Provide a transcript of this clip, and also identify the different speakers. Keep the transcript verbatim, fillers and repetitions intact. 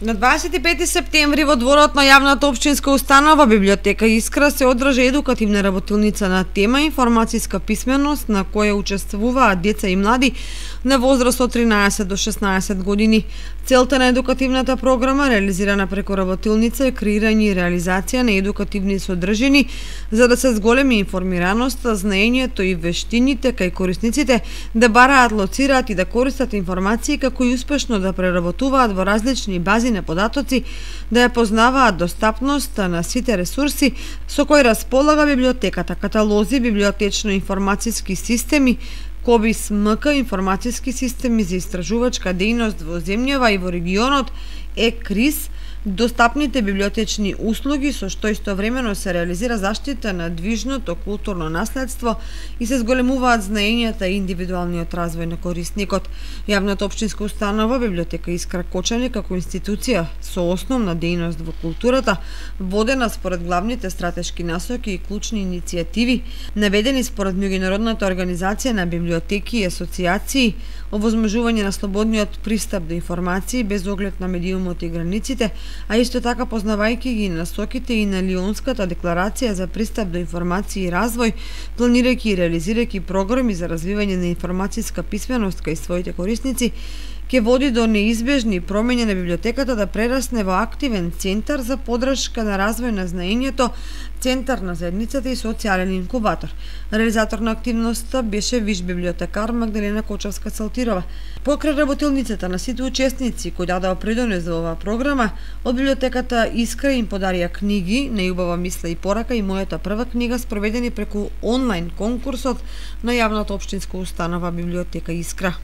Speaker 1: На дваесет и пети септември во дворот на јавната општинска установа Библиотека Искра се одржа едукативна работилница на тема информацијска писменост на која учествуваат деца и млади на возраст од тринаесет до шеснаесет години. Целта на едукативната програма, реализирана преку работилница, е креирање и реализација на едукативни содржини за да се зголеми информираноста, знаењето и вештините кај корисниците да бараат, лоцираат и да користат информации како и успешно да преработуваат во различни бази на податоци, да ја познаваат достапноста на сите ресурси со кои располага библиотеката, каталози, библиотечно-информацијски системи, КОБИС МК, информацијски системи за истражувачка дејност во земјава и во регионот, ЕКРИС, достапните библиотечни услуги со што истовремено се реализира заштита на движното културно наследство и се зголемуваат знаењата и индивидуалниот развој на корисникот. Јавната општинска установа Библиотека Искра Кочани како институција со основна дејност во културата, водена според главните стратешки насоки и клучни иницијативи, наведени според меѓународната организација на библиотеки и асоциации, овозможување на слободниот пристап до информации без оглед на медиумот и границите, а исто така познавајќи ги насоките и на Лионската декларација за пристап до информација и развој, планирајќи и реализирајќи програми за развивање на информацијска писменост кај своите корисници, ќе води до неизбежни промени на библиотеката да прерасне во активен центар за подршка на развој на знаењето, центар на заедницата и социјален инкубатор. Реализатор на активноста беше виш библиотекар Магдалена Кочавска-Цалтирова. Покрај работилницата на сите учесници кои дадоа придонес за оваа програма, од библиотеката Искра им подарија книги Најубава мисла и порака и мојата прва книга, спроведени преку онлайн конкурсот на јавната општинска установа Библиотека Искра.